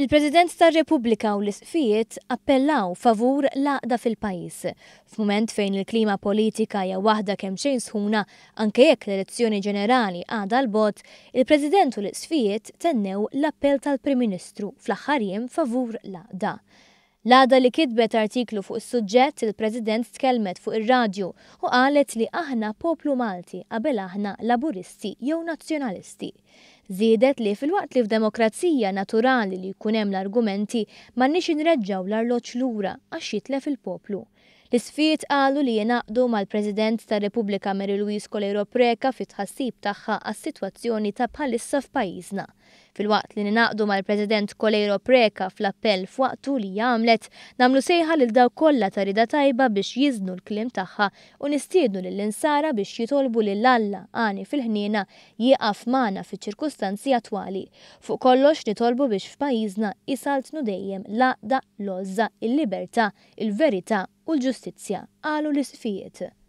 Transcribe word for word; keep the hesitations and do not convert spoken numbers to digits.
Il-President tar-Repubblika u l-Isqfijiet appellaw favur l-għaqda fil-pajjiż. F'mument fejn il-klima politika hija waħda kemxejn sħuna, anke jekk l-elezzjoni ġenerali għadha 'l bogħod, il-President u l-Isqfijiet tennew l-appell tal-Prim Ministru fl-aħħar jiem favur l-għaqda. L-għada li kitbet artiklu fuq is-suġġett, il-President tkellmet fuq ir-radju u qalet li aħna poplu Malti qabel aħna Laburisti jew Nazzjonalisti. Żiedet li filwaqt li f'demokrazija naturali li jkun hemm l-argumenti, m'għandniex inreġġgħu l-arloġġ lura għax jitlef il-poplu. L-Isqfijiet qalu li jingħaqdu mal-President tar-Repubblika Mary Louise Coleiro Preca fit-tħassib tagħha għas-sitwazzjoni ta' bħalissa f'pajjiżna. Filwaqt li ningħaqdu mal-President Coleiro Preca fl-appell f'waqtu li għamlet, nagħmlu sejħa lil dawk kollha ta' rieda tajba biex jiżnu l-kliem tagħha u nistiednu lill-insara biex jitolbu lil Alla għani fil-ħniena jieqaf magħna fiċ-ċirkustanzi attwali. Fuq kollox nitolbu biex f'pajjiżna isaltnu dejjem l-għaqda, l-għożża, il-libertà, il-verità u l-ġustizzja, qalu l-Isqfijiet.